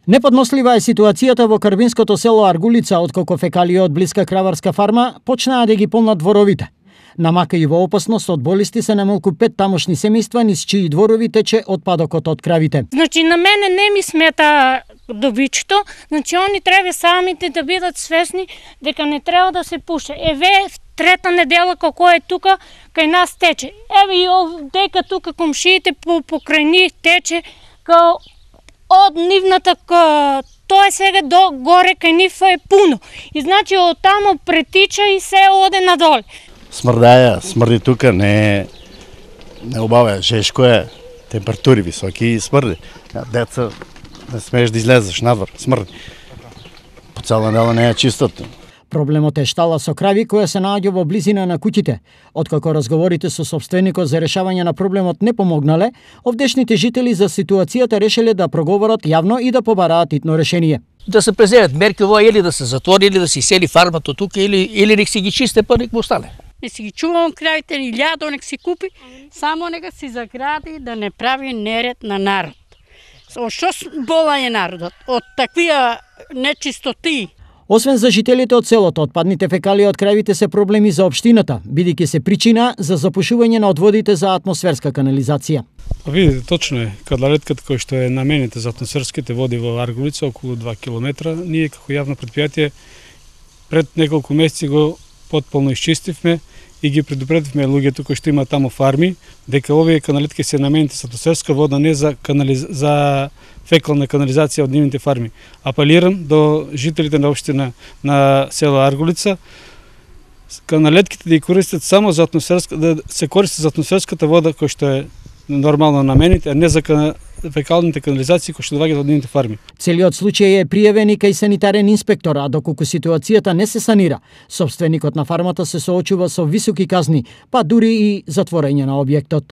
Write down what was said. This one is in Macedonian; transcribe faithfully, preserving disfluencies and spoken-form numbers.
Неподнослива е ситуацијата во карбинското село Аргулица, откако фекалии од блиска краварска фарма почнаа да ги полнат дворовите. Намака и во опасност од болести се намалку пет тамошни семејства низ чии дворови тече отпадокот од кравите. Значи на мене не ми смета добичето, значи они треба самите да бидат свесни дека не треба да се пуше. Еве трета недела како е тука кај нас тече. Еве и дека тука комшиите по покрај нив тече као од нивната ка... тоа е сега до горе кај нив е пуно. И значи од тамо претича и се оде надоле. Смрдаја, смрди тука, не не убава, жешко е, температури високи и смрди. Деца, не смееш да излезеш надвор, смрди. По цела недела не е чистото. Проблемот е штала со крави која се наоѓа во близина на куќите. Откако разговорите со собственикот за решавање на проблемот не помогнале, овдешните жители за ситуацијата решиле да проговорат јавно и да побараат итно решение. Да се преземат мерки ова или да се затвори или да се сели фармата тука или или нек си ги чисте па нек му остане. Не си ги чувам кравите или лјадо нек си купи, само нека си загради да не прави неред на народ. Од што бола е народот? Од таквија нечистоти. Освен за жителите од селото, отпадните фекалии од кравите се проблеми за општината, бидејќи се причина за запушување на одводите за атмосферска канализација. А видите, точно е, кадларетката кој што е намените за атмосферските води во Аргулица, околу два километра, ние како јавно предпријатие пред неколку месеци го потполно исчистивме и ги предупредивме луѓето кои што има таму фарми, дека овие каналетки се намените за атмосферска вода, не за канализ... за фекална канализација од нивните фарми. Апелирам до жителите на општина на село Аргулица, каналетките да ги користат само за атмосферска, да се користат за атмосферската вода кој што е нормално намените, а не за фекалните канализации кои што доаѓаат од нивните фарми. Целиот случај е пријавен и кај санитарен инспектор, а доколку ситуацијата не се санира, собственикот на фармата се соочува со високи казни, па дури и затворање на објектот.